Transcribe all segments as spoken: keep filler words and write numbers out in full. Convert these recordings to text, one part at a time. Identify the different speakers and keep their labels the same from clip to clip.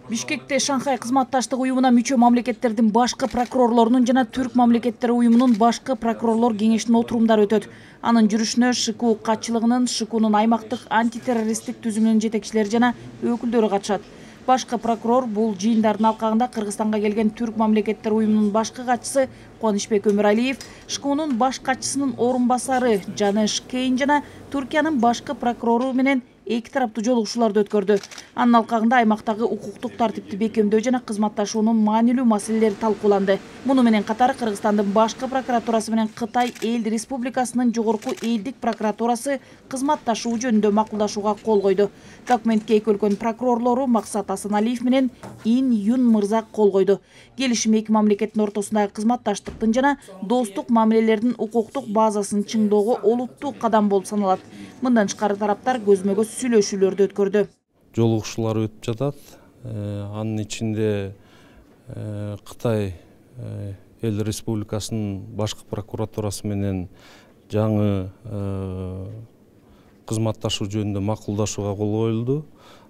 Speaker 1: Бишкекте Шанхай кызматташтык уюмуна мүчө мамлекеттердин башкы прокурорлорунун жана Түрк мамлекеттери уюмунун башкы прокурорлор кеңешинин отурумдары өтөт. Анын жүрүшүнө ШКУ катчылыгынын, ШКУнун аймактык антитеррористтик түзүмүнүн жетекчилери жана өкүлдөрү катышат. Башкы прокурор бул жыйындардын алкагында Кыргызстанга келген Түрк мамлекеттери уюмунун башкы катчысы Кубанычбек Өмүралиев, ШКУнун баш катчысынын орун басары Жанеш Кейн жана Түркиянын башкы прокурору менен эки тараптуу жолугушууларды өткөрдү. Анын алкагында аймактагы укуктук тартипти бекемдөө жана кызматташуунун маанилүү маселелери талкууланды. Муну менен катар Кыргызстандын башкы прокуратурасы менен Кытай Эл Республикасынын жогорку элдик прокуратурасы кызматташуу жөнүндө макулдашууга кол койду. Документке эки өлкөнүн прокурорлору Максат Асаналиев менен Ин Юн Мырза кол койду. Келишим эки мамлекеттин ортосундагы кызматташтыктын жана достук мамилелердин укуктук базасын чыңдоого олуттуу кадам болуп саналат. Мындан тышкары тараптар көзмө-көз сүйлөшүүлөрдү өткөрдү.
Speaker 2: Жолугушуулар өтүп жатат. Анын ичинде Кытай Эл Республикасынын башкы прокуратурасы менен жаңы кызматташуу жөнүндө макулдашууга кол коюлду.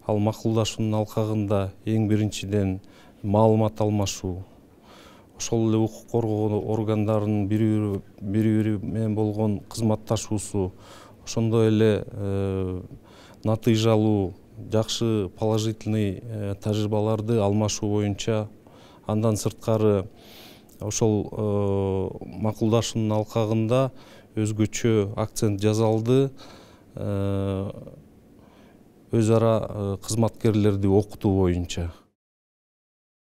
Speaker 2: Ал макулдашуунун алкагында эң биринчиден маалымат алмашуу, ошол эле укук коргоо органдарынын бири-бири менен болгон кызматташуусу, ошондой эле натыйжалуу, жакшы положительный тажрыйбаларды алмашуу боюнча, андан сырткары ошол макулдашуунун алкагында өзгөчө акцент жасалды өз ара кызматкерлерди окутуу боюнча.